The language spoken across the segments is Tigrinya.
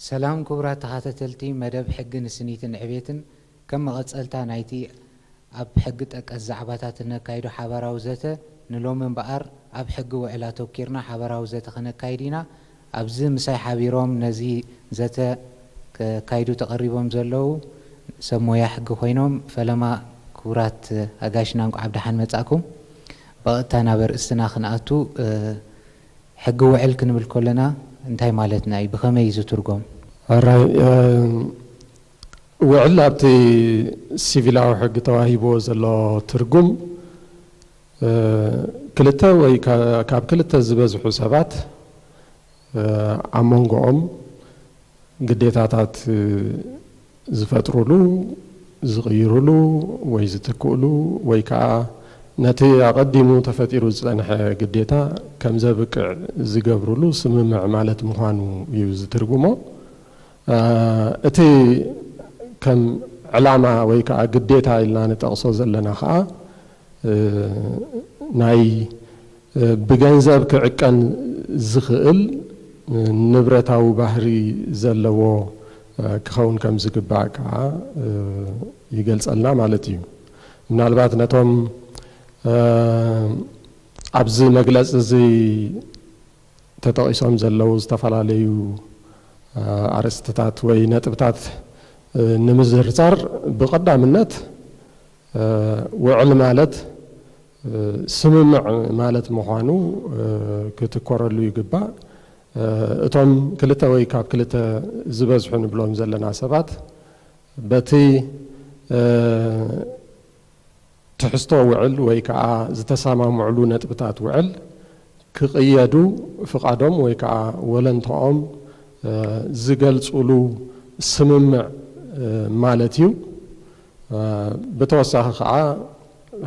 ሰላም ክቡራት ተኸታተልቲ መደብ ሕጊ ንስኒትን ዕቤትን፣ ከም መቐጸልታ ናይቲ ኣብ ሕጊ ጠቀስ ዛዕባታት እነካይዶ ሓባራዊ ዘተ፣ ንሎሚ እምበኣር ኣብ ሕጊ ውዕል ኣተኲርና ሓባራዊ ዘተ ከነካይድ ኢና። ኣብዚ ምሳይ ሓቢሮም ነዚ ዘተ ከካይዱ ተቐሪቦም ዘለዉ ሰብ ሞያ ሕጊ ኮይኖም፣ ፈለማ ክቡራት ኣጋይሽና እንቋዕ ብደሓን መጻእኩም። ብቐጥታ ናብ ኣርእስትና ክንኣቱ፣ እ፣ ሕጊ ውዕል ክንብል ከለና እንታይ ማለትና እዩ? ብኸመይ እዩ ዝትርጎም? ኣራይ፣ እ፣ ውዕል ኣብቲ ሲቪላዊ ሕጊ ተዋሂብዎ ዘሎ ትርጉም፣ እ፣ ክልተ ወይ ካ-፣ ካብ ክልተ ዝበዝሑ ሰባት፣ እ፣ ኣብ መንጎኦም ግዴታታት፣ እ፣ ዝፈጥሩሉ፣ ዝቕይሩሉ ወይ ዝትክእሉ ወይ ከዓ ነቲ ኣቐዲሙ ተፈጢሩ ዝጸንሐ ግዴታ ከም ዘብቅዕ ዝገብሩሉ ስምምዕ ማለት ምዃኑ እዩ ዝትርጉሞ። እ፣ እቲ ከም ዕላማ ወይ ከዓ ግዴታ ኢልና ንጠቕሶ ዘለና ከዓ፣ እ፣ ናይ፣ እ፣ ብገንዘብ ክዕቀን ዝኽእል፣ እ፣ ንብረታዊ ባህሪ ዘለዎ፣ እ፣ ክኸውን ከም ዝግባእ ከዓ፣ እ፣ ይገልጸልና ማለት እዩ። ምናልባት ነቶም፣ እ፣ ኣብዚ መግለጺ እዚ ተጠቒሶም ዘለዉ ዝተፈላለዩ፣ እ፣ ኣርእስትታት ወይ ነጥብታት፣ እ፣ ንምዝርዛር፣ ብቐዳምነት፣ እ፣ ውዕል ማለት፣ እ፣ ስምምዕ ማለት ምዃኑ፣ እ፣ ክትኮረሉ ይግባእ። እ፣ እቶም ክልተ ወይ ካብ ክልተ ዝበዝሑ ንብሎም ዘለና ሰባት በቲ፣ እ፣ ትሕዝቶ ውዕል ወይ ከዓ ዝተሰማምዕሉ ነጥብታት ውዕል ክቕየዱ ፍቓዶም ወይ ከዓ ወለንታኦም፣ እ፣ ዝገልጹሉ ስምምዕ፣ እ፣ ማለት እዩ። እ፣ ብተወሳኺ ከዓ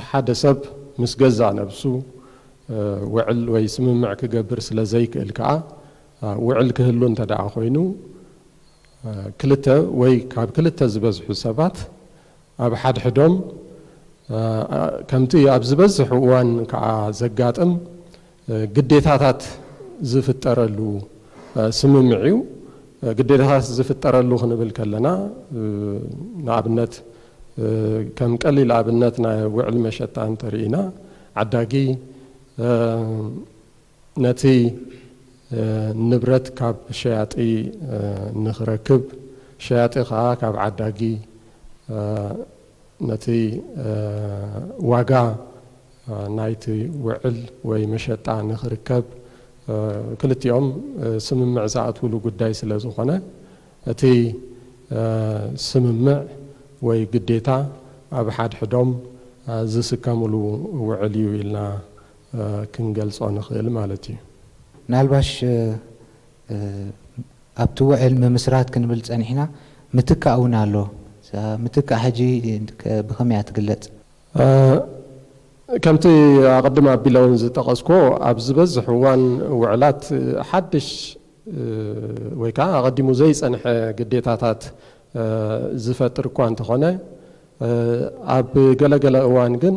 ሓደ ሰብ ምስ ገዛእ ነብሱ፣ እ፣ ውዕል ወይ ስምምዕ ክገብር ስለ ዘይክእል ከዓ፣ እ፣ ውዕል ክህሉ እንተ ደኣ ኮይኑ፣ እ፣ ክልተ ወይ ካብ ክልተ ዝበዝሑ ሰባት ኣብ ሓድሕዶም፣ እ፣ ከምቲ ኣብ ዝበዝሕ እዋን ከዓ ዘጋጥም፣ እ፣ ግዴታታት ዝፍጠረሉ፣ እ፣ ስምምዕ እዩ። እ፣ ግዴታታት ዝፍጠረሉ ክንብል ከለና፣ እ፣ ንኣብነት፣ እ፣ ከም ቀሊል ኣብነት ናይ ውዕል መሸጣ እንተርኢና፣ ዓዳጊ፣ እ፣ ነቲ፣ እ፣ ንብረት ካብ ሸያጢ፣ እ፣ ንኽረክብ፣ ሸያጢ ኸኣ ካብ ዓዳጊ፣ እ፣ ነቲ፣ እ፣ ዋጋ፣ እ፣ ናይቲ ውዕል ወይ መሸጣ ንኽርከብ፣ እ፣ ክልቲኦም፣ እ፣ ስምምዕ ዝኣትውሉ ጉዳይ ስለ ዝኾነ፣ እቲ፣ እ፣ ስምምዕ ወይ ግዴታ ኣብ ሓድሕዶም፣ እ፣ ዝስከምሉ ውዕል እዩ ኢልና፣ እ፣ ክንገልጾ ንኽእል ማለት እዩ። ምናልባሽ፣ እ፣ እ፣ ኣብቲ ውዕል ምምስራት ክንብል ጸኒሕና፣ ምትካእ እውን ኣሎ። እዛ ምትካእ ሕጂ ከ-፣ ብኸመይ እያ ትግለጽ? እ፣ ከምቲ ኣቐድም ኣቢለ እውን ዝጠቐስኩዎ፣ ኣብ ዝበዝሕ እዋን ውዕላት ሓድሽ፣ እ፣ ወይ ከዓ ኣቐዲሙ ዘይጸንሐ ግዴታታት፣ እ፣ ዝፈጥር እኳ እንተኾነ፣ እ፣ ኣብ ገለገለ እዋን ግን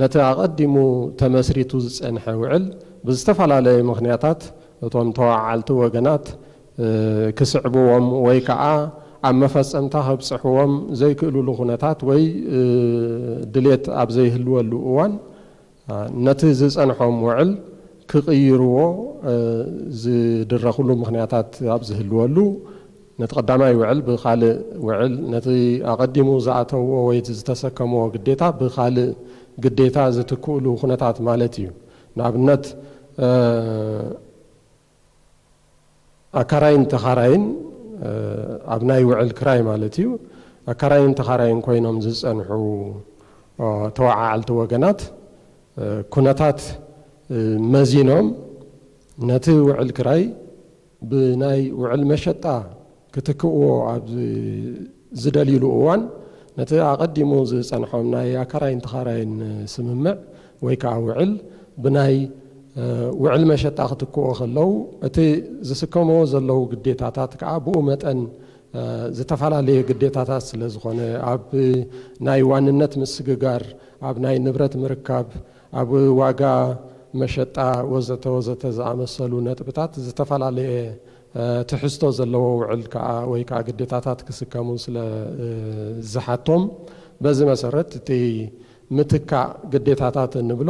ነቲ ኣቐዲሙ ተመስሪቱ ዝጸንሐ ውዕል ብዝተፈላለየ ምኽንያታት እቶም ተወዓዓልቲ ወገናት፣ እ፣ ክስዕብዎም ወይ ከዓ ኣብ መፈጸምታ ከብጽሕዎም ዘይክእሉሉ ኩነታት ወይ፣ እ፣ ድሌት ኣብ ዘይህልወሉ እዋን፣ እ፣ ነቲ ዝጸንሖም ውዕል ክቕይርዎ፣ እ፣ ዝድረኽሉ ምኽንያታት ኣብ ዝህልወሉ፣ ነቲ ቀዳማይ ውዕል ብኻልእ ውዕል፣ ነቲ ኣቐዲሙ ዝኣተውዎ ወይ ዝተሰከምዎ ግዴታ ብኻልእ ግዴታ ዝትክእሉ ኩነታት ማለት እዩ። ንኣብነት፣ እ፣ ኣካራይን ተኻራይን፣ እ፣ ኣብ ናይ ውዕል ክራይ ማለት እዩ፣ ኣካራይን ተኻራይን ኮይኖም ዝጸንሑ፣ እ፣ ተወዓዓልቲ ወገናት፣ እ፣ ኩነታት፣ እ፣ መዚኖም ነቲ ውዕል ክራይ ብናይ ውዕል መሸጣ ክትክእዎ ኣብ ዝ-፣ ዝደልዩሉ እዋን፣ ነቲ ኣቐዲሙ ዝጸንሖም ናይ ኣካራይን ተኻራይን ስምምዕ ወይ ከዓ ውዕል ብናይ፣ እ፣ ውዕል መሸጣ ክትክእዎ ከለዉ፣ እቲ ዝስከምዎ ዘለዉ ግዴታታት ከዓ ብኡ መጠን፣ እ፣ ዝተፈላለየ ግዴታታት ስለ ዝኾነ፣ ኣብ ናይ ዋንነት ምስግጋር፣ ኣብ ናይ ንብረት ምርካብ፣ ኣብ ዋጋ መሸጣ ወዘተ ወዘተ ዝኣመሰሉ ነጥብታት ዝተፈላለየ ትሕዝቶ ዘለዎ ውዕል ከዓ ወይ ከዓ ግዴታታት ክስከሙ ስለ ዝሓቶም፣ በዚ መሰረት እቲ ምትካእ ግዴታታት እንብሎ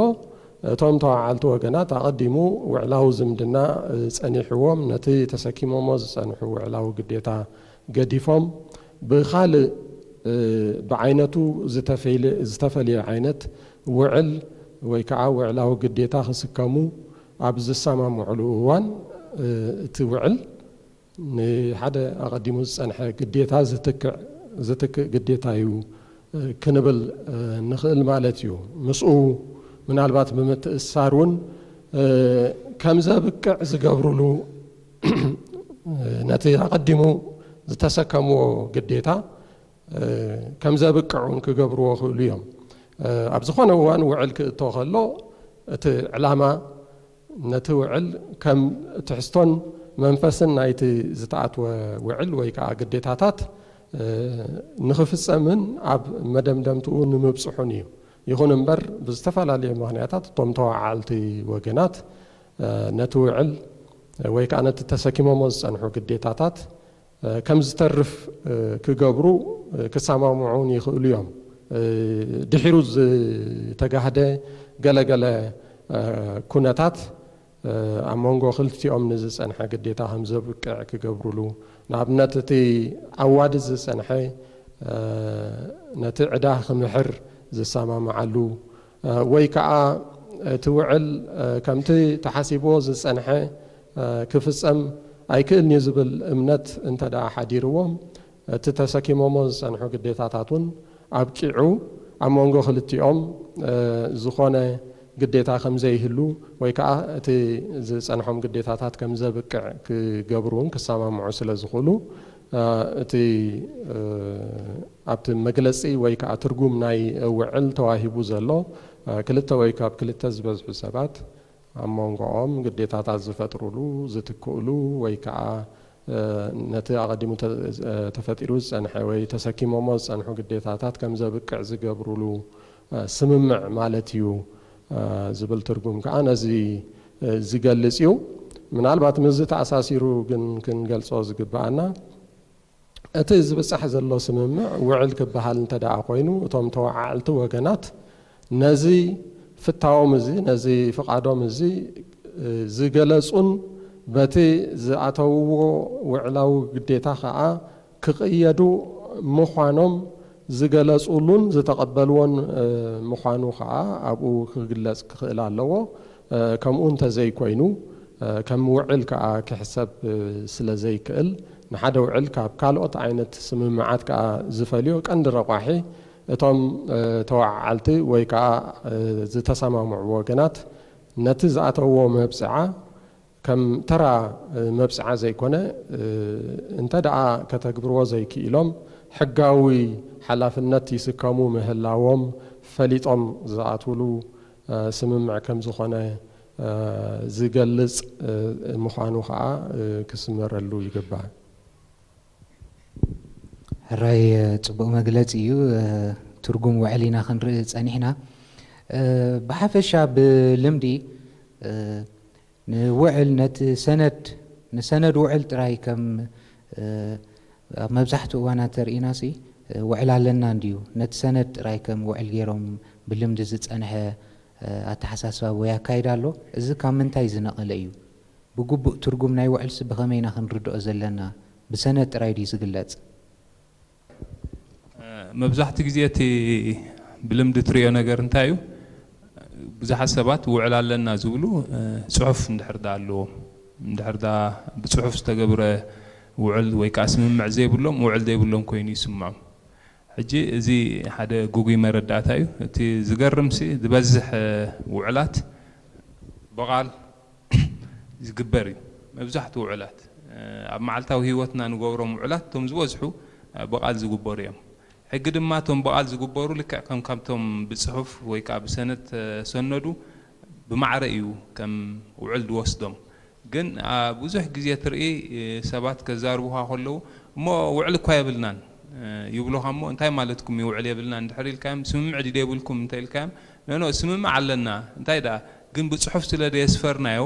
እቶም ተዋዓልቲ ወገናት ኣቐዲሙ ውዕላዊ ዝምድና ጸኒሕዎም ነቲ ተሰኪሞሞ ዝጸንሑ ውዕላዊ ግዴታ ገዲፎም ብኻልእ ብዓይነቱ ዝተፈልየ ዓይነት ውዕል ወይ ከዓ ውዕላዊ ግዴታ ክስከሙ ኣብ ዝሰማምዕሉ እዋን እቲ ውዕል ንሓደ ኣቐዲሙ ዝጸንሐ ግዴታ ዝትክእ ግዴታ እዩ ክንብል ንኽእል ማለት እዩ። ምስኡ ምናልባት ብምትእስሳር እውን ከም ዘብቅዕ ዝገብሩሉ ነቲ ኣቐዲሙ ዝተሰከምዎ ግዴታ ከም ዘብቅዕ እውን ክገብርዎ ይኽእሉ እዮም። ኣብ ዝኾነ እዋን ውዕል ክእቶ ከሎ እቲ ዕላማ ነቲ ውዕል ከም ትሕዝቶን መንፈስን ናይቲ ዝተኣትወ ውዕል ወይ ከዓ ግዴታታት ንኽፍጸምን ኣብ መደምደምትኡ ንምብጽሑን እዩ። ይኹን እምበር ብዝተፈላለየ ምኽንያታት እቶም ተዋዓልቲ ወገናት ነቲ ውዕል ወይ ከዓ ነቲ ተሰኪሞሞ ዝጸንሑ ግዴታታት ከም ዝተርፍ ክገብሩ ክሰማምዑን ይኽእሉ እዮም። ድሒሩ ዝተጋህደ ገለገለ ኩነታት ኣብ መንጎ ክልቲኦም ንዝጸንሐ ግዴታ ከም ዘብቅዕ ክገብሩሉ፣ ንኣብነት እቲ ዓዋዲ ዝጸንሐ ነቲ ዕዳ ክምሕር ዝሰማምዓሉ ወይ ከዓ እቲ ውዕል ከምቲ ተሓሲብዎ ዝጸንሐ ክፍጸም ኣይክእልን እዩ ዝብል እምነት እንተ ደኣ ሓዲርዎም እቲ ተሰኪሞሞ ዝጸንሑ ግዴታታት እውን ኣብቂዑ ኣብ መንጎ ክልቲኦም ዝኾነ ግዴታ ከም ዘይህሉ ወይ ከዓ እቲ ዝጸንሖም ግዴታታት ከም ዘብቅዕ ክገብሩ እውን ክሰማምዑ ስለ ዝኽእሉ እቲ ኣብቲ መግለጺ ወይ ከዓ ትርጉም ናይ ውዕል ተዋሂቡ ዘሎ ክልተ ወይ ካብ ክልተ ዝበዝሑ ሰባት ኣብ መንጎኦም ግዴታታት ዝፈጥሩሉ ዝትክእሉ ወይ ከዓ ነቲ ኣቐዲሙ ተፈጢሩ ዝጸንሐ ወይ ተሰኪሞሞ ዝጸንሑ ግዴታታት ከም ዘብቅዕ ዝገብሩሉ ስምምዕ ማለት እዩ ዝብል ትርጉም ከዓ ነዚ ዝገልጽ እዩ። ምናልባት ምስዚ ተኣሳሲሩ ግን ክንገልጾ ዝግብኣና እቲ ዝብጻሕ ዘሎ ስምምዕ ውዕል ክበሃል እንተ ደኣ ኮይኑ እቶም ተወዓዕልቲ ወገናት ነዚ ፍታዎም እዚ ነዚ ፍቓዶም እዚ ዝገለጹን በቲ ዝኣተውዎ ውዕላዊ ግዴታ ከዓ ክቕየዱ ምዃኖም ዝገለጹሉን ዝተቐበልዎን ምዃኑ ከዓ ኣብኡ ክግለጽ ክኽእል ኣለዎ። ከምኡ እንተዘይኮይኑ ከም ውዕል ከዓ ክሕሰብ ስለ ዘይክእል ንሓደ ውዕል ካብ ካልኦት ዓይነት ስምምዓት ከዓ ዝፈልዮ ቀንዲ ረቋሒ እቶም ተወዓዓልቲ ወይ ከዓ ዝተሰማምዑ ወገናት ነቲ ዝኣተውዎ መብፅዓ ከም ተራ መብፅዓ ዘይኮነ እንተ ደኣ ከተግብርዎ ዘይክኢሎም ሕጋዊ ሓላፍነት ይስከሙ ምህላዎም ፈሊጦም ዝኣትውሉ ስምምዕ ከም ዝኾነ ዝገልጽ ምዃኑ ከዓ ክስመረሉ ይግባእ። ሕራይ ጽቡቕ መግለጺ እዩ። ትርጉም ውዕል ኢና ክንርኢ ጸኒሕና። ብሓፈሻ ብልምዲ ንውዕል ነቲ ሰነድ ንሰነድ ውዕል ጥራይ ከም ኣብ መብዛሕትኡ እዋናት ተርኢና ሲ ውዕል ኣለና እንድዩ ነቲ ሰነድ ጥራይ ከም ውዕል ገይሮም ብልምዲ ዝጸንሐ ኣተሓሳስባ ወይ ኣካይዳ ኣሎ። እዚ ካብ ምንታይ ዝነቐለ እዩ? ብግቡእ ትርጉም ናይ ውዕልሲ ብኸመይ ኢና ክንርድኦ ዘለና? ብሰነድ ጥራይ ድዩ ዝግለጽ? መብዛሕትኡ ግዜ እቲ ብልምዲ ትሪኦ ነገር እንታይ እዩ? ብዙሓት ሰባት ውዕል ኣለና ዝብሉ ፅሑፍ እንድሕር ዳ ኣለዎም እንድሕር ዳ ብፅሑፍ ዝተገብረ ውዕል ወይ ከዓ ስምምዕ ዘይብሎም ውዕል ዘይብሎም ኮይኑ ይስምዖም። ሕጂ እዚ ሓደ ግጉይ መረዳእታ እዩ። እቲ ዝገርምሲ ዝበዝሕ ውዕላት ብቓል ዝግበር እዩ። መብዛሕትኡ ውዕላት ኣብ መዓልታዊ ህይወትና ንገብሮም ውዕላት እቶም ዝበዝሑ ብቓል ዝግበሩ እዮም። ሕጊ ድማ እቶም ብቓል ዝግበሩ ልክዕ ከም ካብቶም ብፅሑፍ ወይ ከዓ ብሰነድ ተሰነዱ ብማዕረ እዩ ከም ውዕል ዝወስዶም። ግን ብዙሕ ግዜ ትርኢ ሰባት ከዛርቡኻ ከለዉ እሞ ውዕል እኳ የብልናን ይብሉኻ እሞ እንታይ ማለትኩም እዩ ውዕል የብልናን እንድሕር ኢልካዮም ስምምዕ ድዩ የብልኩም እንተ ኢልካዮም ኖኖ ስምምዕ ኣለና እንታይ ደኣ ግን ብፅሑፍ ስለ ዘየስፈርናዮ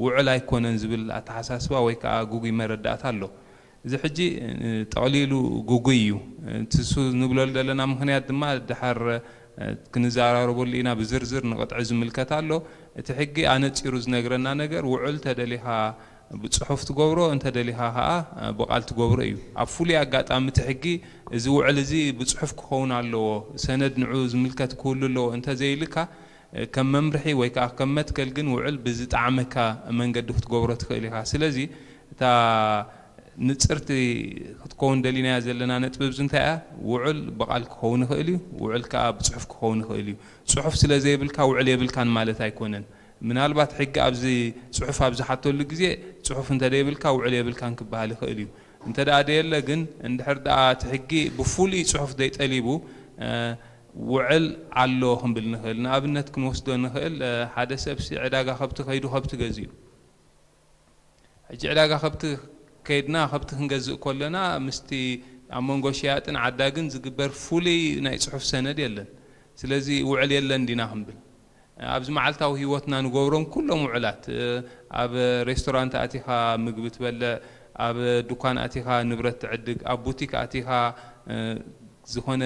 ውዕል ኣይኮነን ዝብል ኣተሓሳስባ ወይ ከዓ ግጉይ መረዳእታ ኣሎ። እዚ ሕጂ ጠቕሊሉ ግጉይ እዩ። እቲ ንሱ ንብለሉ ዘለና ምኽንያት ድማ ድሓር ክንዘራረበሉ ኢና። ብዝርዝር ንቕጥዒ ዝምልከት ኣሎ። እቲ ሕጊ ኣነፂሩ ዝነግረና ነገር ውዕል ተደሊኻ ብፅሑፍ ትገብሮ፣ እንተደሊኻ ከዓ ብቓል ትገብሮ እዩ። ኣብ ፍሉይ ኣጋጣሚ እቲ ሕጊ እዚ ውዕል እዚ ብፅሑፍ ክኸውን ኣለዎ፣ ሰነድ ንዑ ዝምልከት ክህሉ ኣለዎ እንተዘይልካ፣ ከም መምርሒ ወይ ከዓ ከም መትከል ግን ውዕል ብዝጠዓመካ መንገዲ ክትገብሮ ትኽእል ኢኻ። ስለዚ እታ ንፅርቲ ክትከውን ደሊናያ ዘለና ነጥቢ ኣብዚ እንታይ እያ? ውዕል ብቓል ክኸውን ይኽእል እዩ፣ ውዕል ከዓ ብፅሑፍ ክኸውን ይኽእል እዩ። ፅሑፍ ስለ ዘይብልካ ውዕል የብልካን ማለት ኣይኮነን። ምናልባት ሕጊ ኣብዚ ፅሑፍ ኣብ ዝሓተሉ ግዜ ፅሑፍ እንተደይብልካ ውዕል የብልካን ክበሃል ይኽእል እዩ። እንተ ደኣ ደየለ ግን እንድሕር ደኣ እቲ ሕጊ ብፍሉይ ፅሑፍ ዘይጠሊቡ ውዕል ኣሎ ክንብል ንኽእል። ንኣብነት ክንወስዶ ንኽእል፣ ሓደ ሰብሲ ዕዳጋ ከብቲ ከይዱ ከብቲ ገዚኡ። ሕጂ ዕዳጋ ከብቲ ከይድና ከብቲ ክንገዝእ ከለና ምስቲ ኣብ መንጎ ሸያጥን ዓዳግን ዝግበር ፍሉይ ናይ ፅሑፍ ሰነድ የለን። ስለዚ ውዕል የለን ዲና ክንብል? ኣብዚ መዓልታዊ ህይወትና ንገብሮም ኩሎም ውዕላት፣ ኣብ ሬስቶራንት ኣቲኻ ምግቢ ትበልዕ፣ ኣብ ዱኳን ኣቲኻ ንብረት ትዕድግ፣ ኣብ ቡቲክ ኣቲኻ ዝኾነ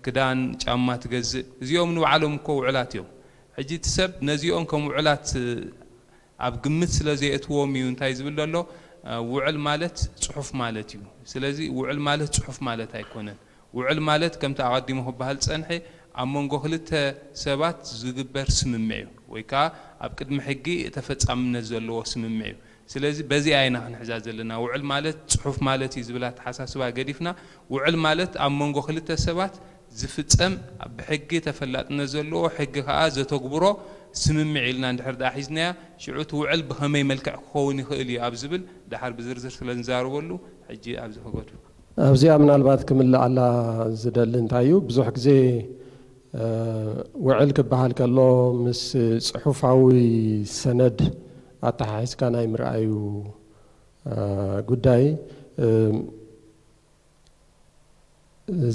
ክዳን ጫማ ትገዝእ፣ እዚኦም ንባዕሎም እኮ ውዕላት እዮም። ሕጂ እቲ ሰብ ነዚኦም ከም ውዕላት ኣብ ግምት ስለ ዘየእትዎም እዩ እንታይ ዝብል ዘሎ? ውዕል ማለት ፅሑፍ ማለት እዩ። ስለዚ ውዕል ማለት ፅሑፍ ማለት ኣይኮነን። ውዕል ማለት ከምቲ ኣቐዲሙ ክበሃል ዝፀንሐ ኣብ መንጎ ክልተ ሰባት ዝግበር ስምምዕ እዩ፣ ወይ ከዓ ኣብ ቅድሚ ሕጊ ተፈፃምነት ዘለዎ ስምምዕ እዩ። ስለዚ በዚኣ ኢና ክንሕዛ ዘለና። ውዕል ማለት ፅሑፍ ማለት እዩ ዝብል ኣተሓሳስባ ገዲፍና፣ ውዕል ማለት ኣብ መንጎ ክልተ ሰባት ዝፍፀም ብሕጊ ተፈላጥነት ዘለዎ፣ ሕጊ ከዓ ዘተግብሮ ስምምዕ ኢልና እንድሕር ደኣ ሒዝናያ፣ ሽዑ እቲ ውዕል ብኸመይ መልክዕ ክኸውን ይኽእል እዩ ኣብ ዝብል ደሓር ብዝርዝር ስለ ንዛረበሉ ሕጂ ኣብዚ ክገድፎ። ኣብዚኣ ምናልባት ክምልኣላ ዝደሊ እንታይ እዩ፣ ብዙሕ ግዜ ውዕል ክበሃል ከሎ ምስ ፅሑፋዊ ሰነድ ኣተሓሒዝካ ናይ ምርኣዩ ጉዳይ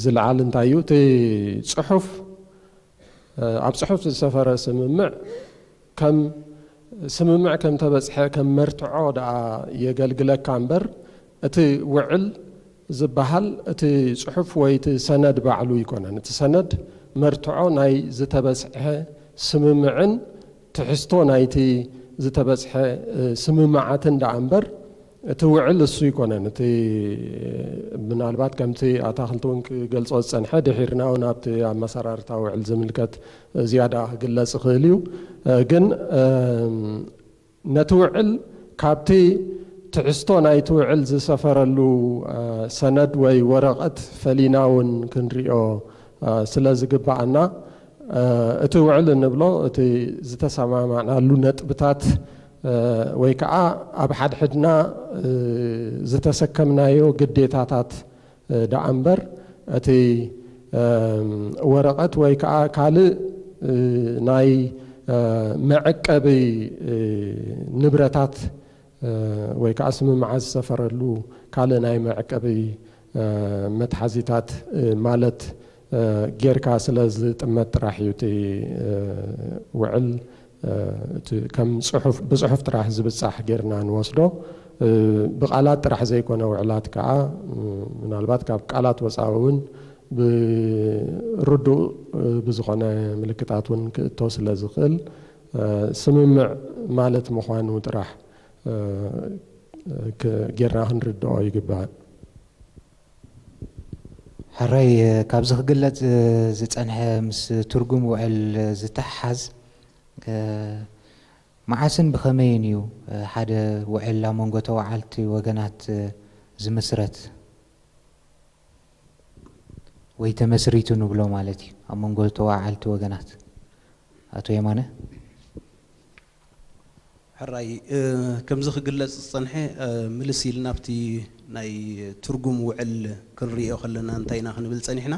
ዝለዓል እንታይ እዩ? እቲ ፅሑፍ ኣብ ፅሑፍ ዝሰፈረ ስምምዕ ከም ስምምዕ ከም ተበፅሐ ከም መርትዖ ደኣ የገልግለካ እምበር እቲ ውዕል ዝበሃል እቲ ፅሑፍ ወይ እቲ ሰነድ ባዕሉ ኣይኮነን። እቲ ሰነድ መርትዖ ናይ ዝተበፅሐ ስምምዕን ትሕዝቶ ናይቲ ዝተበፅሐ ስምምዓትን ደኣ እምበር እቲ ውዕል እሱ ኣይኮነን። እቲ ምናልባት ከምቲ ኣታኽልቲ እውን ክገልጾ ዝጸንሐ ድሒርና እውን ኣብቲ ኣመሰራርታ ውዕል ዝምልከት ዝያዳ ክግለጽ ይኽእል እዩ። ግን ነቲ ውዕል ካብቲ ትሕዝቶ ናይቲ ውዕል ዝሰፈረሉ ሰነድ ወይ ወረቐት ፈሊና እውን ክንሪኦ ስለ ዝግብኣና እቲ ውዕል እንብሎ እቲ ዝተሰማማዕናሉ ነጥብታት ወይ ከዓ ኣብ ሓድሕድና ዝተሰከምናዮ ግዴታታት ደኣ እምበር እቲ ወረቐት ወይ ከዓ ካልእ ናይ መዐቀቢ ንብረታት ወይ ከዓ ስምምዓት ዝሰፈረሉ ካልእ ናይ መዐቀቢ መትሓዚታት ማለት ጌርካ ስለ ዝጥመት ጥራሕ እዩ እቲ ውዕል እቲ ከም ብፅሑፍ ጥራሕ ዝብፃሕ ጌርና ንወስዶ። ብቃላት ጥራሕ ዘይኮነ ውዕላት ከዓ ምናልባት ካብ ቃላት ወፃኢ እውን ብርዱእ ብዝኾነ ምልክታት እውን ክእቶ ስለ ዝኽእል ስምምዕ ማለት ምዃኑ ጥራሕ ጌርና ክንርድኦ ይግባእ። ሕራይ ካብዚ ክግለፅ ዝፀንሐ ምስ ትርጉም ውዕል ዝተሓሓዝ መዓስን ብኸመይን እዩ ሓደ ውዕል ኣብ መንጎ ተወዓልቲ ወገናት ዝምስረት ወይ ተመስሪቱ ንብሎ ማለት እዩ ኣብ መንጎ ተወዓልቲ ወገናት? ኣቶ የማነ። ሕራይ ከምዚ ክግለፅ ዝፀንሐ ምልስ ኢልና ኣብቲ ናይ ትርጉም ውዕል ክንሪኦ ከለና እንታይ ኢና ክንብል ፀኒሕና?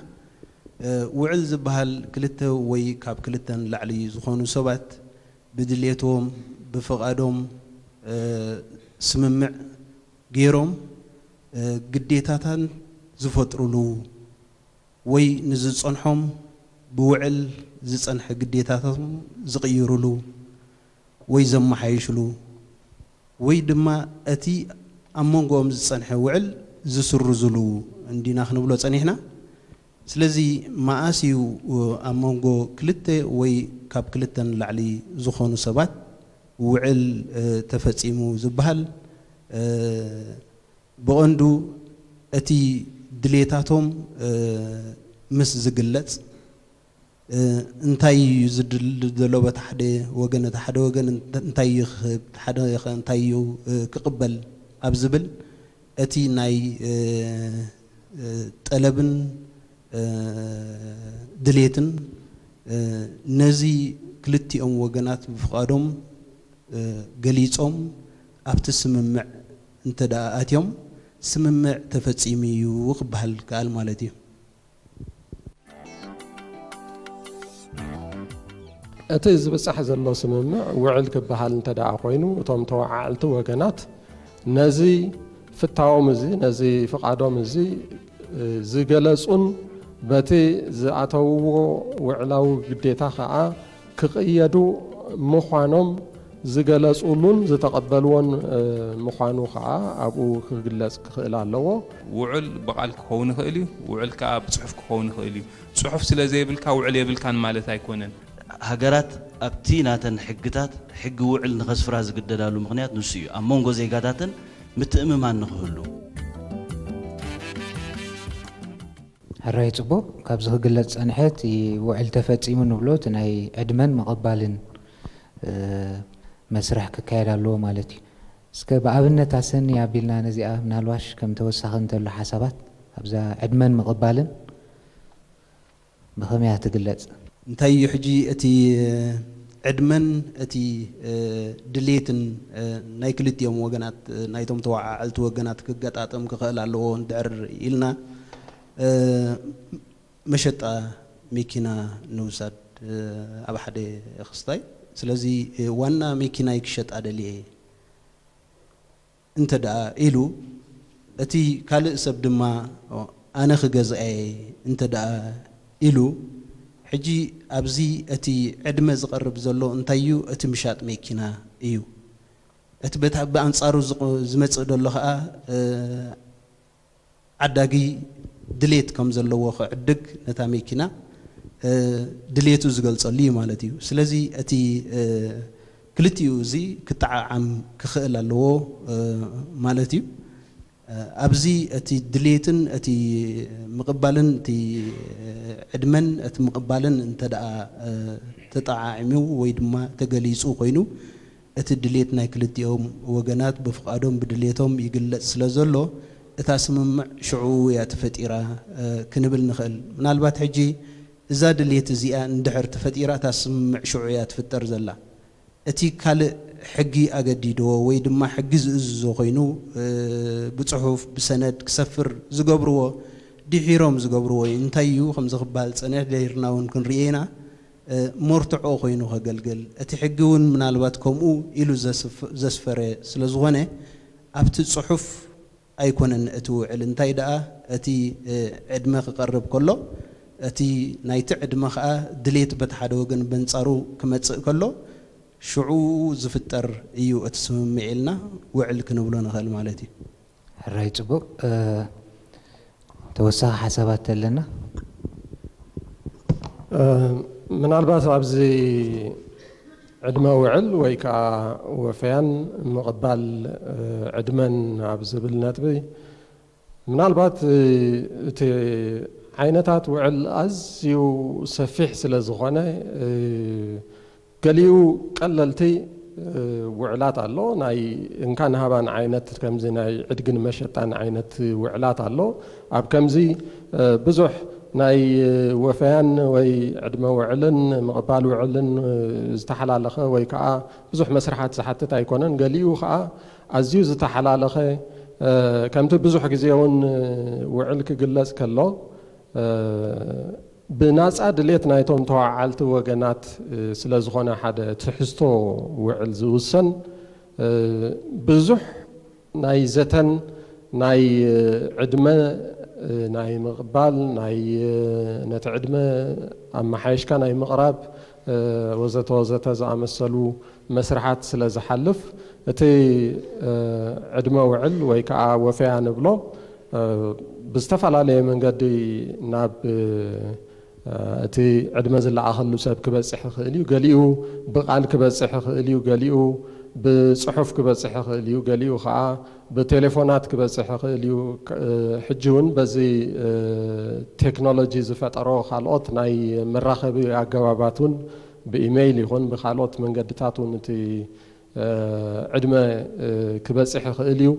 ውዕል ዝበሃል ክልተ ወይ ካብ ክልተ ንላዕሊ ዝኾኑ ሰባት ብድሌቶም ብፍቓዶም ስምምዕ ገይሮም ግዴታታን ዝፈጥሩሉ ወይ ንዝፀንሖም ብውዕል ዝፀንሐ ግዴታታቶም ዝቕይሩሉ ወይ ዘመሓይሽሉ ወይ ድማ እቲ ኣብ መንጎኦም ዝጸንሐ ውዕል ዝስርዙሉ እንዲና ክንብሎ ጸኒሕና። ስለዚ መኣስ እዩ ኣብ መንጎ ክልተ ወይ ካብ ክልተ ንላዕሊ ዝኾኑ ሰባት ውዕል ተፈጺሙ ዝበሃል? ብቐንዱ እቲ ድሌታቶም ምስ ዝግለጽ፣ እንታይ እዩ ዝድል ዘሎ በቲ ሓደ ወገን፣ እቲ ሓደ ወገን እንታይ እዩ ክህብ፣ እቲ ሓደ ኸ እንታይ እዩ ክቕበል ኣብ ዝብል፣ እቲ ናይ ጠለብን ድሌትን ነዚ ክልቲኦም ወገናት ብፍቓዶም ገሊጾም ኣብቲ ስምምዕ እንተ ደኣ ኣትዮም፣ ስምምዕ ተፈጺሙ እዩ ክበሃል ይከኣል ማለት እዩ። እቲ ዝብጻሕ ዘሎ ስምምዕ ውዕል ክበሃል እንተ ደኣ ኮይኑ፣ እቶም ተወዓዕልቲ ወገናት ነዚ ፍታዎም እዚ፣ ነዚ ፍቓዶም እዚ ዝገለጹን በቲ ዝኣተውዎ ውዕላዊ ግዴታ ከኣ ክቕየዱ ምዃኖም ዝገለጹሉን ዝተቐበልዎን ምዃኑ ከኣ ኣብኡ ክግለጽ ክኽእል ኣለዎ። ውዕል ብቓል ክኸውን ይኽእል እዩ፣ ውዕል ከኣ ብጽሑፍ ክኸውን ይኽእል እዩ። ጽሑፍ ስለ ዘይብልካ ውዕል የብልካን ማለት ኣይኮነን። ሃገራት ኣብቲ ናተን ሕግታት ሕጊ ውዕል ንኸስፍራ ዝግደዳሉ ምኽንያት ንሱ እዩ፣ ኣብ መንጎ ዜጋታተን ምትእምማን ንኽህሉ። ሕራይ ጽቡቕ፣ ካብዚ ክግለጽ ዝጸንሐ እቲ ውዕል ተፈጺሙ ንብሎ እቲ ናይ ዕድመን ምቕባልን መስርሕ ክካየድ ኣለዎ ማለት እዩ። እስከ ብኣብነት ኣሰኒ ኣቢልና ነዚኣ ምናልባሽ ከም ተወሳኺ እንተሎ ሓሳባት ኣብዛ ዕድመን ምቕባልን ብኸመይ እያ ትግለጽ? እንታይ እዩ ሕጂ እቲ ዕድመን እቲ ድሌትን ናይ ክልቲኦም ወገናት ናይቶም ተወዓዓልቲ ወገናት ክገጣጠም ክኽእል ኣለዎ እንድሕር ኢልና መሸጣ መኪና ንውሳድ ኣብ ሓደ ክስታይ ስለዚ ዋና መኪናይ ክሸጣ ደልየ እንተ ደኣ ኢሉ እቲ ካልእ ሰብ ድማ ኣነ ክገዝኣ እየ እንተ ደኣ ኢሉ ሕጂ ኣብዚ እቲ ዕድመ ዝቐርብ ዘሎ እንታይ እዩ እቲ ምሻጥ መኪና እዩ እቲ በታ ብኣንጻሩ ዝመጽእ ዘሎ ኸኣ ዓዳጊ ድሌት ከም ዘለዎ ክዕድግ ነታ መኪና ድሌቱ ዝገልጸሉ እዩ ማለት እዩ። ስለዚ እቲ ክልቲኡ እዚ ክጠዓዓም ክኽእል ኣለዎ ማለት እዩ። ኣብዚ እቲ ድሌትን እቲ ምቕባልን እቲ ዕድመን እቲ ምቕባልን እንተ ደኣ ተጠዓዒሙ ወይ ድማ ተገሊጹ ኮይኑ እቲ ድሌት ናይ ክልቲኦም ወገናት ብፍቓዶም ብድሌቶም ይግለጽ ስለ ዘሎ እታ ስምምዕ ሽዑ እያ ተፈጢራ ክንብል ንኽእል። ምናልባት ሕጂ እዛ ድሌት እዚኣ እንድሕር ተፈጢራ እታ ስምምዕ ሽዑ እያ ትፍጠር ዘላ። እቲ ካልእ ሕጊ ኣገዲድዎ ወይ ድማ ሕጊ ዝእዝዞ ኮይኑ ብጽሑፍ ብሰነድ ክሰፍር ዝገብርዎ ድሒሮም ዝገብርዎ እዩ። እንታይ እዩ ከምዚ ክበሃል ዝጸንሐ ደይርና እውን ክንርእዮ ኢና። መርትዖ ኮይኑ ከገልግል እቲ ሕጊ እውን ምናልባት ከምኡ ኢሉ ዘስፈረ ስለ ዝኾነ ኣብቲ ፅሑፍ ኣይኮነን እቲ ውዕል እንታይ ደኣ እቲ ዕድመ ክቐርብ ከሎ እቲ ናይቲ ዕድመ ከዓ ድሌት በቲ ሓደ ወገን በንፃሩ ክመፅእ ከሎ ሽዑ ዝፍጠር እዩ እቲ ስምምዕ ኢልና ውዕል ክንብሎ ንኽእል ማለት እዩ። ሕራይ ፅቡቕ ተወሳኺ ሓሳባት ተለና ምናልባት ኣብዚ ዕድመ ውዕል ወይ ከዓ ወፈያን ምቕባል ዕድመን ኣብ ዝብል ነጥቢ ምናልባት እቲ ዓይነታት ውዕል ኣዝዩ ሰፊሕ ስለ ዝኾነ ገሊኡ ቀለልቲ ውዕላት ኣሎ ናይ እንካን ሃባን ዓይነት ከምዚ ናይ ዕድግን መሸጣን ዓይነት ውዕላት ኣሎ ኣብ ከምዚ ብዙሕ ናይ ወፈያን ወይ ዕድመ ውዕልን ምቕባል ውዕልን ዝተሓላለኸ ወይ ከዓ ብዙሕ መስርሓት ዝሓትት ኣይኮነን ገሊኡ ከዓ ኣዝዩ ዝተሓላለኸ ከምቲ ብዙሕ ግዜ እውን ውዕል ክግለፅ ከሎ ብናፃ ድሌት ናይቶም ተዋዓልቲ ወገናት ስለ ዝኾነ ሓደ ትሕዝቶ ውዕል ዝውሰን ብዙሕ ናይ ዘተን ናይ ዕድመ ናይ ምቕባል ናይ ነቲ ዕድመ ኣመሓየሽካ ናይ ምቕራብ ወዘተ ወዘተ ዝኣመሰሉ መስርሓት ስለ ዝሓልፍ፣ እቲ ዕድመ ውዕል ወይ ከዓ ወፈያ ንብሎ ብዝተፈላለየ መንገዲ ናብ እቲ ዕድመ ዝለኣኸሉ ሰብ ክበፅሕ ይኽእል እዩ። ገሊኡ ብቃል ክበፅሕ ይኽእል እዩ። ገሊኡ ብፅሑፍ ክበፅሕ ይኽእል እዩ። ገሊኡ ከዓ ብቴሌፎናት ክበፅሕ ይኽእል እዩ። ሕጂ እውን በዚ ቴክኖሎጂ ዝፈጠሮ ካልኦት ናይ መራኸቢ ኣገባባት እውን ብኢሜይል ይኹን ብካልኦት መንገድታት እውን እቲ ዕድመ ክበፅሕ ይኽእል እዩ።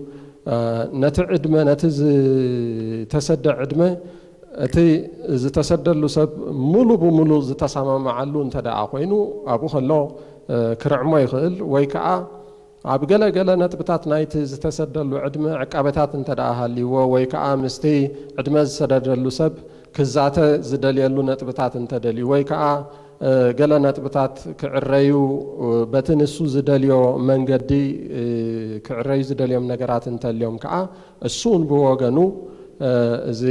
ነቲ ዕድመ፣ ነቲ ዝተሰደ ዕድመ እቲ ዝተሰደሉ ሰብ ሙሉ ብሙሉ ዝተሰማምዓሉ እንተ ደኣ ኮይኑ፣ ኣብኡ ከሎ ክርዕሞ ይኽእል፣ ወይ ከዓ ኣብ ገለ ገለ ነጥብታት ናይቲ ዝተሰደሉ ዕድመ ዕቃበታት እንተ ደኣ ሃልይዎ፣ ወይ ከዓ ምስቲ ዕድመ ዝሰደደሉ ሰብ ክዛተ ዝደልየሉ ነጥብታት እንተደልዩ፣ ወይ ከዓ ገለ ነጥብታት ክዕረዩ፣ በቲ ንሱ ዝደልዮ መንገዲ ክዕረዩ ዝደልዮም ነገራት እንተልዮም ከዓ፣ እሱ እውን ብወገኑ እዚ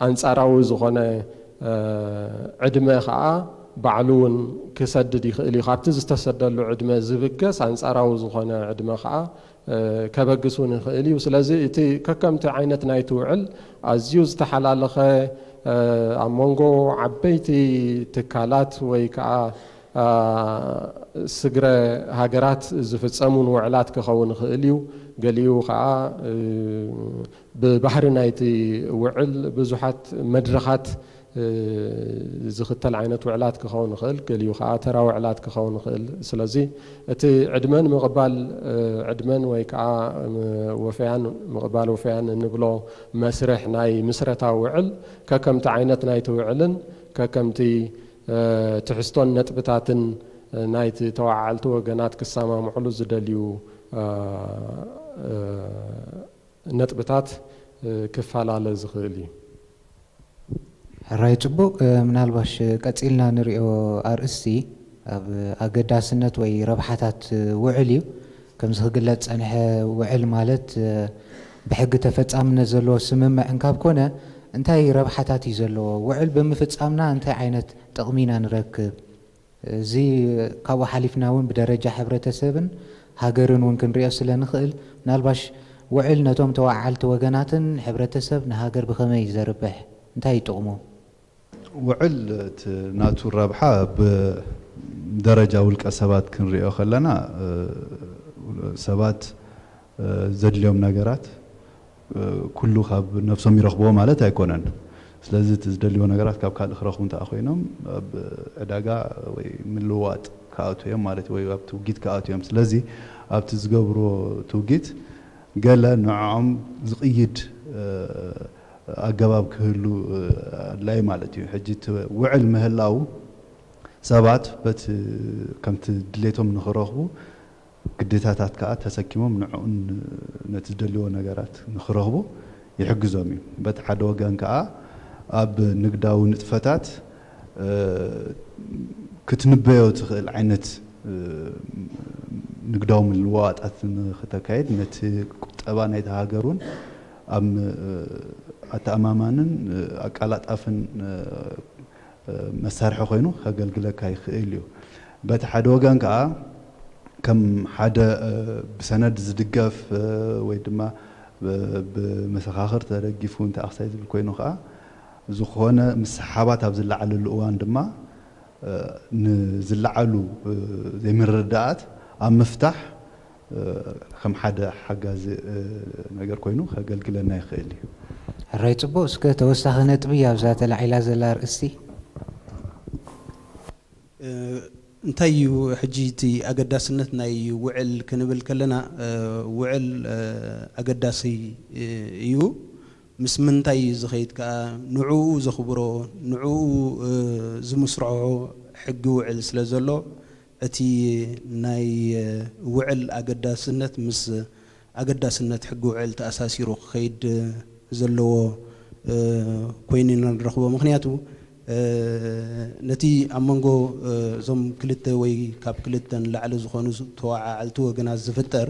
ኣንጻራዊ ዝኾነ ዕድመ ከዓ ባዕሉ እውን ክሰድድ ይኽእል እዩ። ካብቲ ዝተሰደሉ ዕድመ ዝብገስ ኣንጻራዊ ዝኾነ ዕድመ ከዓ ከበግስ እውን ይኽእል እዩ። ስለዚ እቲ ከከምቲ ዓይነት ናይቲ ውዕል ኣዝዩ ዝተሓላለኸ፣ ኣብ መንጎ ዓበይቲ ትካላት ወይ ከዓ ስግረ ሃገራት ዝፍጸሙን ውዕላት ክኸውን ይኽእል እዩ። ገሊኡ ከዓ ብባህሪ ናይቲ ውዕል ብዙሓት መድረኻት ዝኽተል ዓይነት ውዕላት ክኸውን ይኽእል፣ ገሊኡ ከዓ ተራ ውዕላት ክኸውን ይኽእል። ስለዚ እቲ ዕድመን ምቕባል ዕድመን ወይ ከዓ ወፈያን ምቕባል ወፈያን እንብሎ መስርሕ ናይ ምስረታ ውዕል ከከምቲ ዓይነት ናይቲ ውዕልን ከከምቲ ትሕዝቶን ነጥብታትን ናይቲ ተወዓዓልቲ ወገናት ክሰማምዕሉ ዝደልዩ ነጥብታት ክፈላለ ዝኽእል እዩ። ሕራይ ጽቡቕ። ምናልባሽ ቀጺልና ንሪኦ ኣርእስቲ ኣብ ኣገዳስነት ወይ ረብሓታት ውዕል እዩ። ከምዚ ክግለጽ ጸንሐ፣ ውዕል ማለት ብሕጊ ተፈጻምነት ዘለዎ ስምምዕ እንካብ ኮነ እንታይ ረብሓታት እዩ ዘለዎ? ውዕል ብምፍጻምና እንታይ ዓይነት ጥቕሚ ኢና ንረክብ? እዚ ካብኡ ሓሊፍና እውን ብደረጃ ሕብረተሰብን ሃገርን እውን ክንሪኦ ስለ ንኽእል፣ ምናልባሽ ውዕል ነቶም ተወዓዓልቲ ወገናትን ሕብረተሰብ ንሃገር ብኸመይ እዩ ዘርብሕ? እንታይ እዩ ጥቕሙ? ውዕል እቲ ናቱ ረብሓ ብደረጃ ውልቀ ሰባት ክንሪኦ ከለና ሰባት ዘድልዮም ነገራት ኩሉ ካብ ነብሶም ይረኽብዎ ማለት ኣይኮነን። ስለዚ እቲ ዝደልይዎ ነገራት ካብ ካልእ ክረኽቡ እንተኣ ኮይኖም ኣብ ዕዳጋ ወይ ምልውዋጥ ክኣትዉ እዮም ማለት እዩ፣ ወይ ኣብ ትውጊት ክኣትዉ እዮም። ስለዚ ኣብቲ ዝገብርዎ ትውጊት ገለ ንዕኦም ዝቕይድ ኣገባብ ክህሉ ኣድላዪ ማለት እዩ። ሕጂ እቲ ውዕል ምህላው ሰባት በቲ ከምቲ ድሌቶም ንኽረኽቡ ግዴታታት ከኣ ተሰኪሞም ንዕኡን ነቲ ዝደልይዎ ነገራት ንኽረኽቡ ይሕግዞም እዩ። በቲ ሓደ ወገን ከኣ ኣብ ንግዳዊ ንጥፈታት ክትንበዮ ትኽእል ዓይነት ንግዳዊ ምልውዋጣት ንኽተካይድ ነቲ ቁጠባ ናይታ ሃገር እውን ኣብ ኣተኣማማንን ኣቃላጣፍን መሳርሒ ኮይኑ ከገልግለካ ይኽእል እዩ። በቲ ሓደ ወገን ከዓ ከም ሓደ ብሰነድ ዝድገፍ ወይ ድማ ብመሰኻኽር ተደጊፉ እንተ ኣኽሳይ ዝብል ኮይኑ ከዓ ዝኾነ ምስሓባት ኣብ ዝለዓለሉ እዋን ድማ ንዝለዓሉ ዘይምርድዳኣት ኣብ ምፍታሕ ከም ሓደ ሓጋዚ ነገር ኮይኑ ከገልግለና ይኽእል እዩ። ሕራይ ፅቡቕ። እስከ ተወሳኺ ነጥቢ ኣብዛ ተላዒላ ዘላ ኣርእስቲ እንታይ እዩ ሕጂ እቲ ኣገዳስነት ናይ ውዕል ክንብል ከለና ውዕል ኣገዳሲ እዩ። ምስ ምንታይ እዩ ዝኸይድ ከኣ ንዕኡ ዘኽብሮ ንዕኡ ዝምስርዖ ሕጊ ውዕል ስለ ዘሎ እቲ ናይ ውዕል ኣገዳስነት ምስ ኣገዳስነት ሕጊ ውዕል ተኣሳሲሩ ክኸይድ ዘለዎ ኮይኑ ኢና ንረኽቦ። ምኽንያቱ ነቲ ኣብ መንጎ እዞም ክልተ ወይ ካብ ክልተ ንላዕሊ ዝኾኑ ተወዓዓልቲ ወገናት ዝፍጠር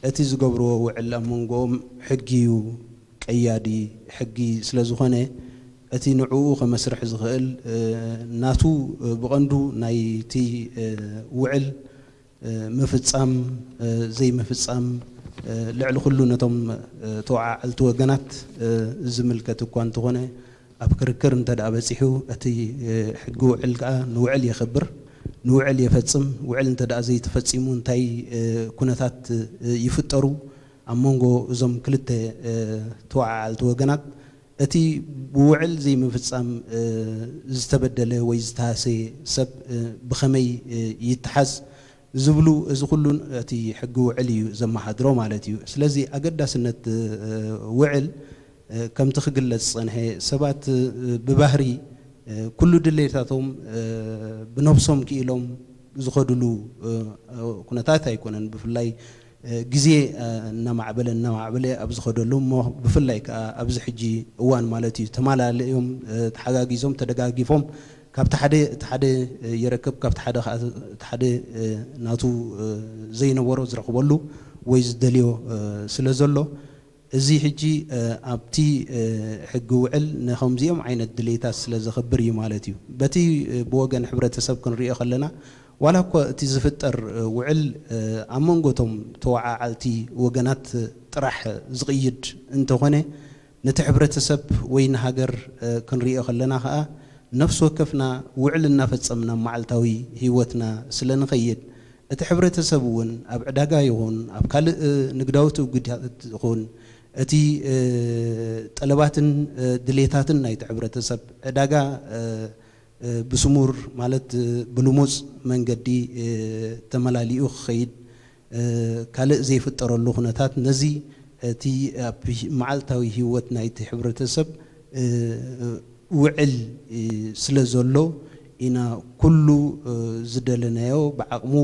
እቲ ዝገብርዎ ውዕል ኣብ መንጎኦም ሕጊ እዩ ቀያዲ ሕጊ ስለ ዝኾነ እቲ ንዕኡ ከመስርሕ ዝኽእል ናቱ ብቐንዱ ናይቲ ውዕል ምፍጻም ዘይምፍጻም ልዕሊ ኩሉ ነቶም ተወዓዓልቲ ወገናት ዝምልከት እኳ እንተኾነ፣ ኣብ ክርክር እንተ ደኣ በጺሑ፣ እቲ ሕጊ ውዕል ከኣ ንውዕል የኽብር፣ ንውዕል የፈጽም። ውዕል እንተ ደኣ ዘይተፈጺሙ እንታይ ኩነታት ይፍጠሩ ኣብ መንጎ እዞም ክልተ ተወዓዓልቲ ወገናት? እቲ ብውዕል ዘይምፍጻም ዝተበደለ ወይ ዝተሃሰየ ሰብ ብኸመይ ይተሓዝ ዝብሉ፣ እዚ ኩሉ እቲ ሕጊ ውዕል እዩ ዘመሓድሮ ማለት እዩ። ስለዚ ኣገዳስነት ውዕል ከምቲ ክግለጽ ዝጸንሐ፣ ሰባት ብባህሪ ኩሉ ድሌታቶም ብነብሶም ክኢሎም ዝኸድሉ ኩነታት ኣይኮነን። ብፍላይ ግዜ እናማዕበለ እናማዕበለ ኣብ ዝኸደሉ እሞ ብፍላይ ከኣ ኣብዚ ሕጂ እዋን ማለት እዩ ተማላልዮም ተሓጋጊዞም ተደጋጊፎም ካብቲ ሓደ እቲ ሓደ ይረክብ ካብቲ ሓደ ከዓ እቲ ሓደ ናቱ ዘይነበሮ ዝረኽበሉ ወይ ዝደልዮ ስለ ዘሎ እዚ ሕጂ ኣብቲ ሕጊ ውዕል ንከምዚኦም ዓይነት ድሌታት ስለ ዘኽብር እዩ ማለት እዩ። በቲ ብወገን ሕብረተሰብ ክንሪኦ ከለና ዋላ እኳ እቲ ዝፍጠር ውዕል ኣብ መንጎ እቶም ተወዓዓልቲ ወገናት ጥራሕ ዝቕይድ እንተኾነ፣ ነቲ ሕብረተሰብ ወይ ንሃገር ክንሪኦ ከለና ኸኣ፣ ነፍሲ ወከፍና ውዕል እናፈጸምና መዓልታዊ ህይወትና ስለ ንኸይድ፣ እቲ ሕብረተሰብ እውን ኣብ ዕዳጋ ይኹን ኣብ ካልእ ንግዳዊ ትውግዳት ይኹን፣ እቲ ጠለባትን ድሌታትን ናይቲ ሕብረተሰብ ዕዳጋ ብስሙር ማለት ብልሙጽ መንገዲ ተመላሊኡ ክኸይድ ካልእ ዘይፍጠረሉ ኩነታት ነዚ እቲ ኣብ መዓልታዊ ህይወት ናይቲ ሕብረተሰብ ውዕል ስለ ዘሎ ኢና ኩሉ ዝደለናዮ ብዓቕሙ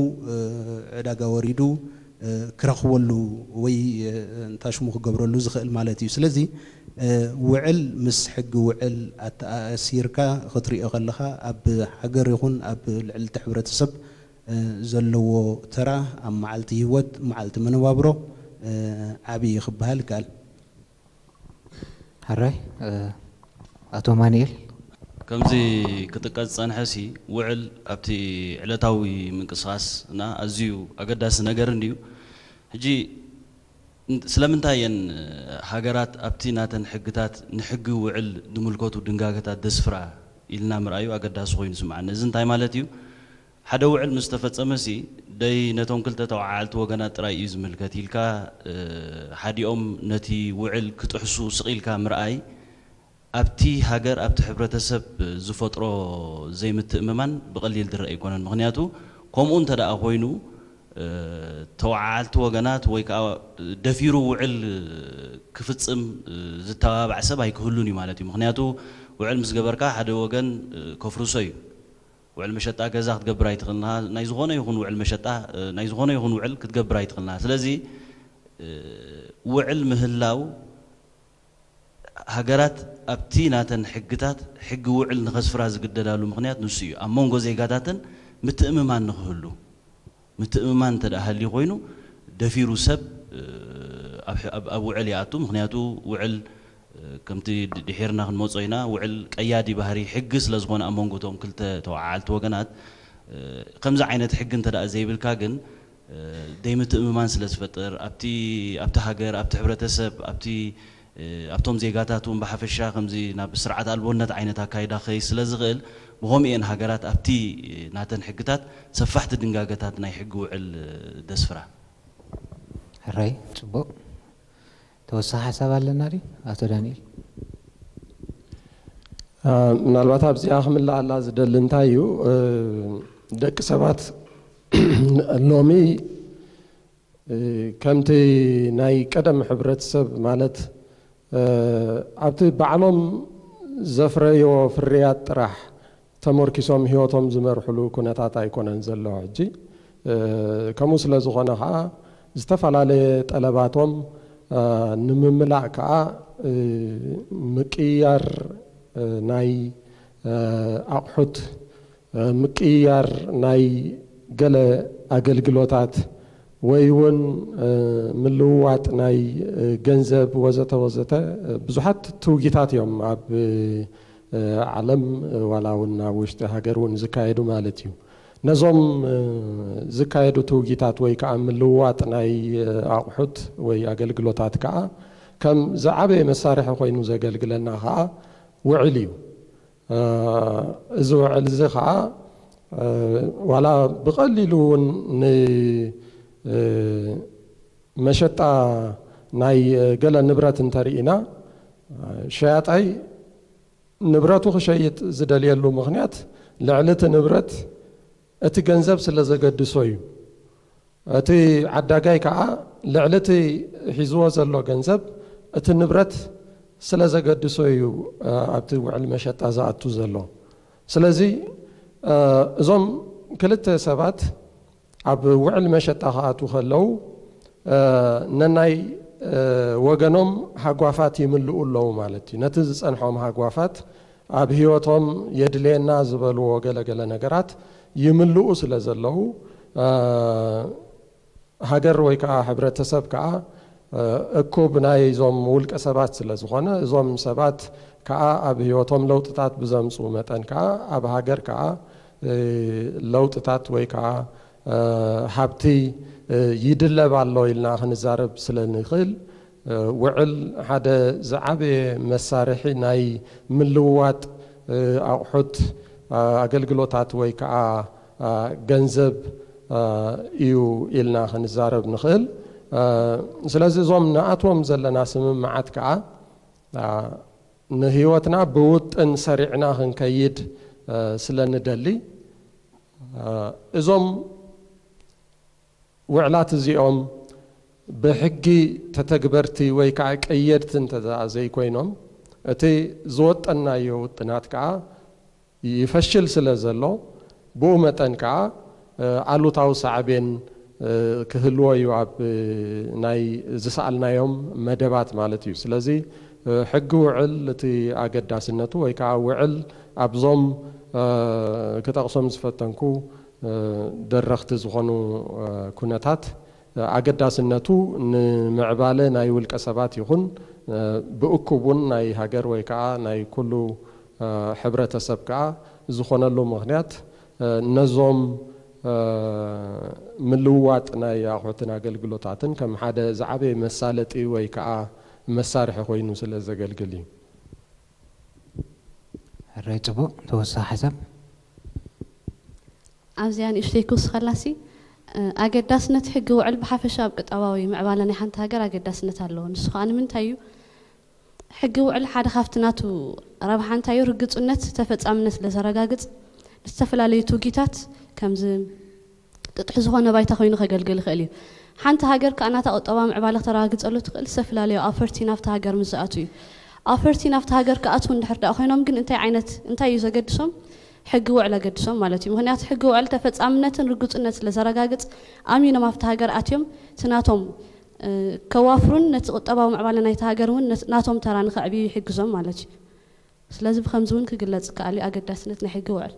ዕዳጋ ወሪዱ ክረኽበሉ ወይ እንታሽሙ ክገብረሉ ዝኽእል ማለት እዩ። ስለዚ ውዕል ምስ ሕጊ ውዕል ኣተኣሲርካ ክትሪኦ ከለኻ ኣብ ሃገር ይኹን ኣብ ልዕሊ እቲ ሕብረተሰብ ዘለዎ ተራ ኣብ መዓልቲ ህይወት መዓልቲ መነባብሮ ዓብዪ ክበሃል ይከኣል። ሕራይ ኣቶ ማንኤል። ከምዚ ክጥቀስ ዝጸንሐ ሲ ውዕል ኣብቲ ዕለታዊ ምንቅስቃስና ኣዝዩ ኣገዳሲ ነገር እንድዩ። ሕጂ ስለምንታይ እየን ሃገራት ኣብቲ ናተን ሕግታት ንሕጊ ውዕል ዝምልከቱ ድንጋገታት ዘስፍራ ኢልና ምርኣዩ ኣገዳሲ ኮይኑ ይስምዓኒ። እዚ እንታይ ማለት እዩ? ሓደ ውዕል ምስ ተፈጸመ ሲ ደይ ነቶም ክልተ ተወዓዓልቲ ወገናት ጥራይ እዩ ዝምልከት ኢልካ ሓዲኦም ነቲ ውዕል ክጥሕሱ ስቕ ኢልካ ምርኣይ ኣብቲ ሃገር ኣብቲ ሕብረተሰብ ዝፈጥሮ ዘይምትእምማን ብቐሊል ዝረአ ኣይኮነን። ምኽንያቱ ከምኡ እንተ ደኣ ኮይኑ ተወዓዓልቲ ወገናት ወይ ከዓ ደፊሩ ውዕል ክፍጽም ዝተባባዕ ሰብ ኣይክህሉን እዩ ማለት እዩ። ምኽንያቱ ውዕል ምስ ገበርካ ሓደ ወገን ከፍርሶ እዩ። ውዕል መሸጣ ገዛ ክትገብር ኣይትኽእልና፣ ናይ ዝኾነ ይኹን ውዕል መሸጣ ናይ ዝኾነ ይኹን ውዕል ክትገብር ኣይትኽእልና። ስለዚ ውዕል ምህላው ሃገራት ኣብቲ ናተን ሕግታት ሕጊ ውዕል ንኸስፍራ ዝግደዳሉ ምኽንያት ንሱ እዩ። ኣብ መንጎ ዜጋታተን ምትእምማን ንኽህሉ ምትእምማን እንተ ደኣ ሃልዩ ኮይኑ ደፊሩ ሰብ ኣብ ውዕል ይኣቱ። ምኽንያቱ ውዕል ከምቲ ድሒርና ክንመጾ ኢና፣ ውዕል ቀያዲ ባህሪ ሕጊ ስለ ዝኾነ ኣብ መንጎ እቶም ክልተ ተወዓዓልቲ ወገናት ከምዚ ዓይነት ሕጊ እንተ ደኣ ዘይብልካ ግን ደይምትእምማን ስለ ዝፈጥር ኣብቲ ኣብቲ ሃገር ኣብቲ ሕብረተሰብ ኣብቲ ኣብቶም ዜጋታት እውን ብሓፈሻ ከምዚ ናብ ስርዓት ኣልቦነት ዓይነት ኣካይዳ ክኸይድ ስለ ዝኽእል ብኸምኡ እየን ሃገራት ኣብቲ ናተን ሕግታት ሰፋሕቲ ድንጋገታት ናይ ሕጊ ውዕል ደስፍራ። ሕራይ ጽቡቕ። ተወሳኺ ሓሳብ ኣለና ድዩ ኣቶ ዳንኤል? ምናልባት ኣብዚኣ ክምልኣላ ዝደሊ እንታይ እዩ ደቂ ሰባት ሎሚ ከምቲ ናይ ቀደም ሕብረተሰብ ማለት ኣብቲ ባዕሎም ዘፍረዮ ፍርያት ጥራሕ ተመርኪሶም ህይወቶም ዝመርሕሉ ኩነታት ኣይኮነን ዘሎ ሕጂ። ከምኡ ስለ ዝኾነ ከዓ ዝተፈላለየ ጠለባቶም ንምምላእ ከዓ ምቅያር ናይ ኣቑሑት ምቅይያር ናይ ገለ ኣገልግሎታት ወይ እውን ምልውዋጥ ናይ ገንዘብ ወዘተ ወዘተ ብዙሓት ትውጊታት እዮም ኣብ ዓለም ዋላ እውን ኣብ ውሽጢ ሃገር እውን ዝካየዱ ማለት እዩ። ነዞም ዝካየዱ ትውጊታት ወይ ከዓ ምልውዋጥ ናይ ኣቑሑት ወይ ኣገልግሎታት ከዓ ከም ዝዓበየ መሳርሒ ኮይኑ ዘገልግለና ከዓ ውዕል እዩ። እዚ ውዕል እዚ ከዓ ዋላ ብቐሊሉ እውን ንመሸጣ ናይ ገለ ንብረት እንተርኢና፣ ሸያጣይ ንብረቱ ክሸይጥ ዝደልየሉ ምኽንያት ልዕሊ እቲ ንብረት እቲ ገንዘብ ስለ ዘገድሶ እዩ። እቲ ዓዳጋይ ከዓ ልዕሊ እቲ ሒዝዎ ዘሎ ገንዘብ እቲ ንብረት ስለ ዘገድሶ እዩ ኣብቲ ውዕል መሸጣ ዝኣቱ ዘሎ። ስለዚ እዞም ክልተ ሰባት ኣብ ውዕል መሸጣ ክኣትዉ ከለዉ ነናይ ወገኖም ሃጓፋት ይምልኡ ኣለዉ ማለት እዩ። ነቲ ዝጸንሖም ሃጓፋት ኣብ ህይወቶም የድልየና ዝበልዎ ገለገለ ነገራት ይምልኡ ስለ ዘለዉ ሃገር ወይ ከዓ ሕብረተሰብ ከዓ እኩብ ናይዞም ውልቀ ሰባት ስለ ዝኾነ እዞም ሰባት ከዓ ኣብ ህይወቶም ለውጥታት ብዘምፅኡ መጠን ከዓ ኣብ ሃገር ከዓ ለውጥታት ወይ ከዓ ሃብቲ ይድለብ ኣሎ ኢልና ክንዛረብ ስለ ንኽእል ውዕል ሓደ ዝዓበየ መሳርሒ ናይ ምልውዋጥ ኣቑሑት ኣገልግሎታት ወይ ከዓ ገንዘብ እዩ ኢልና ክንዛረብ ንኽእል። ስለዚ እዞም ንኣትዎም ዘለና ስምምዓት ከዓ ንህይወትና ብውጥን ሰሪዕና ክንከይድ ስለ ንደሊ እዞም ውዕላት እዚኦም ብሕጊ ተተግበርቲ ወይ ከዓ ቀየድቲ እንተ ዘይኮይኖም እቲ ዝወጠናዮ ውጥናት ከዓ ይፈሽል ስለ ዘሎ ብኡ መጠን ከዓ ኣሉታዊ ሳዕቤን ክህልዎ እዩ ኣብ ናይ ዝሰኣልናዮም መደባት ማለት እዩ። ስለዚ ሕጊ ውዕል እቲ ኣገዳስነቱ ወይ ከዓ ውዕል ኣብዞም ክጠቕሶም ዝፈተንኩ ደረኽቲ ዝኾኑ ኩነታት ኣገዳስነቱ ንምዕባለ ናይ ውልቀ ሰባት ይኹን ብእኩብ እውን ናይ ሃገር ወይ ከዓ ናይ ኩሉ ሕብረተሰብ ከዓ ዝኾነሉ ምኽንያት ነዞም ምልውዋጥ ናይ ኣቑሑትን ኣገልግሎታትን ከም ሓደ ዝዓበየ መሳለጢ ወይ ከዓ መሳርሒ ኮይኑ ስለ ዘገልግል እዩ። ሕራይ ጽቡቕ ተወሳኺ ሓሳብ ኣብዚኣ ንእሽተይ ክውስኸላሲ ኣገዳስነት ሕጊ ውዕል ብሓፈሻ ኣብ ቅጣባዊ ምዕባለ ናይ ሓንቲ ሃገር ኣገዳስነት ኣለዎ። ንሱ ከዓ ንምንታይ እዩ ሕጊ ውዕል ሓደ ካብቲ ናቱ ረብሓ እንታይ እዩ ርግፁነት ተፈፃምነት ስለዘረጋግፅ ንዝተፈላለዩ ትውጊታት ከምዚ ጥጡሕ ዝኾነ ባይታ ኮይኑ ከገልግል ይኽእል እዩ። ሓንቲ ሃገር ከዓ ናታ ቁጠባ ምዕባለ ክተረጋግፀሉ ትኽእል ዝተፈላለዩ ኣፈርቲ ናብቲ ሃገር ምስ ዝኣትዉ እዩ። ኣፈርቲ ናብቲ ሃገር ክኣትዉ እንድሕር ደኣ ኮይኖም ግን እንታይ ዓይነት እንታይ እዩ ዘገድሶም? ሕጊ ውዕል ኣገድሶም ማለት እዩ። ምኽንያቱ ሕጊ ውዕል ተፈፃምነትን ርግፁነት ስለዘረጋግፅ ኣሚኖም ኣብቲ ሃገር ኣትዮም እቲ ናቶም ከዋፍሩን ነቲ ቁጠባዊ ምዕባለ ናይቲ ሃገር እውን ናቶም ተራ ንከዕብዩ ይሕግዞም ማለት እዩ። ስለዚ ብከምዚ እውን ክግለፅ ይከኣል እዩ ኣገዳስነት ናይ ሕጊ ውዕል።